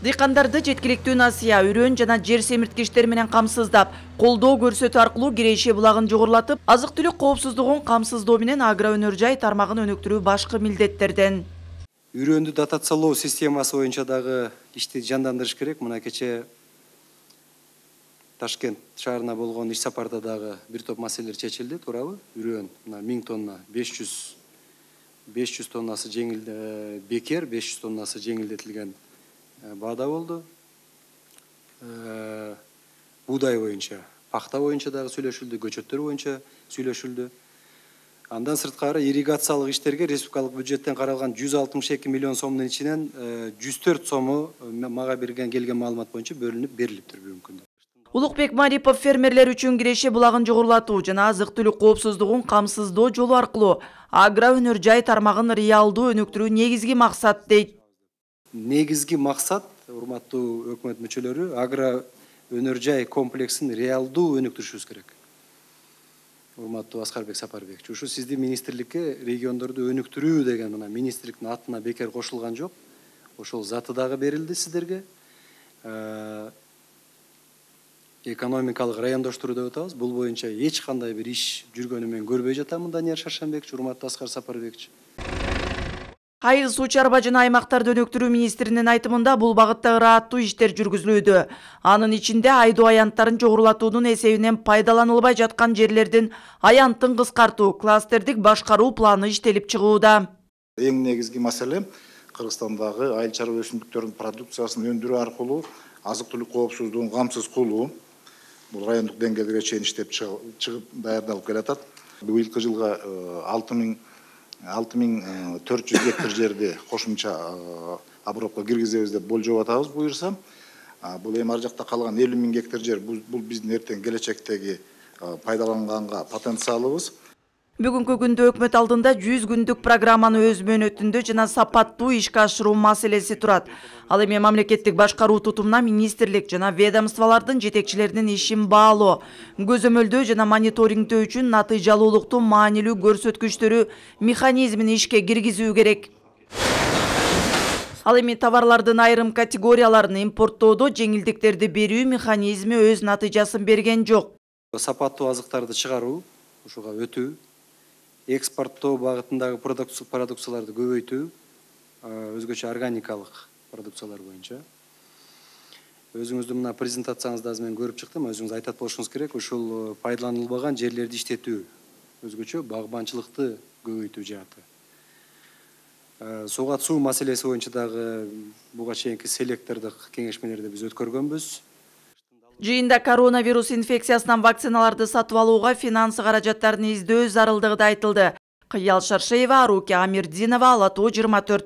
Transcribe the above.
Дыйкандарды жеткиликтүү насыя, үрөн жана жер семирткичтер менен камсыздап, колдоо көрсөтүү аркылуу Киреше булагын жогорулатып, азык-түлүк коопсуздугун камсыздоо менен агро өнөр жай тармагын өнүктүрүү башкы милдеттерден. Үрөндү дотациялоо системасы боюнча дагы ишти жандандырыш керек. Мына кече Ташкент шаарына болгон иш сапарда дагы бир топ маселелер чечилди, туурабы? Үрөн мына 1000 тонна, 500 тоннасы бекер, 500 тоннасы жеңилдетилген баада болду. Буудай боюнча, пахта боюнча дагы сүйлөшүлдү, көчөттөр боюнча сүйлөшүлдү. Андан сырткары ирригациялык иштерге республикалык бюджеттен каралган 162 миллион сомдун ичинен 104 сому мага келген маалымат боюнча бөлүнүп берилиптир бүгүнкү күндө. Улукбек Марипов фермерлер үчүн Киреше булагын жогорулатуу жана азык-түлүк коопсуздугун камсыздоо жолу аркылуу агро өнөр жай тармагын реалдуу өнүктүрүү негизги максат дейт. Негизги максат, урматтуу өкмөт мүчөлөрү, агро өнөр жай комплексин реалдуу өнүктүрүшүбүз керек. Урматтуу Аскарбек Сапарбекович, ушу сиздин министрликке региондорду өнүктүрүү деген мына министрликтин атына бекер кошулган жок. Ошол заты дагы берилди сиздерге. Экономикалык райондоштуруу деп атабыз. Бул боюнча эч кандай бир иш жүргөнү мен көрбөй жатамын, Данияр Шаршанбекович, урматтуу Аскар Сапарбекович. Айыл суу чарба жана аймактарды өнүктүрүү министринин айтымында бул багытта ырааттуу иштер жүргүзүлүүдө. Анын ичинде айдоо аянттарын жогорулатуунун эсебинен пайдаланылбай жаткан жерлердин аянтын кыскартуу, кластердик башкаруу планы иштелип чыгууда. Эң негизги маселе Кыргызстандагы айыл чарба өсүмдүктөрүнүн продукциясын өндүрүү аркылуу азык-түлүк коопсуздугун камсыз кылуу. Бул райондук деңгээлге чейин иштеп чыгып даярдалып келатат. Быйылкы жылга 6400 гектар жерди кошумча обробко киргизебиз деп болжоп атабыз буюрса. Бул эми ар жакта калган 50 000 гектар жер бул биздин эртең келечектеги пайдаланганга потенциалыбыз. Бүгүнкү күндө өкмөт алдында 100 күндүк программаны өз мөөнөтүндө жана сапаттуу ишке ашыруу маселеси турат. Ал эми мамлекеттик башкаруу тутумуна министрлик жана ведомстволордун жетекчилеринин ишин баалоо, көзөмөлдөө жана мониторингдөө үчүн натыйжалуулуктун маанилүү көрсөткүчтөрү механизмин ишке киргизүү керек. Ал эми товарлардын айрым категорияларын импорттоодо жеңилдиктерди берүү механизми өз натыйжасын берген жок. Сапаттуу азыктарды чыгаруу, ушуга өтүү, экспорттоо багытындагы продукцияларды көбөйтүү, өзгөчө органикалык продукциялар боюнча. Өзүңүздүн мына презентацияңызда азыр мен көрүп чыктым, өзүңүз айтат болушуңуз керек, ушул пайдаланылбаган жерлерди иштетүү, өзгөчө багбанчылыкты көбөйтүү жааты. Суга суу маселеси боюнча дагы буга чейинки селектордук кеңешмелерди биз өткөргөнбүз. Жыйында коронавирус инфекциясынан вакциналарды сатып алууга финансы каражаттарын издөө зарылдыгы да айтылды. Кыял Шаршеева, Аруки Амирдинова, Ала Тоо 24.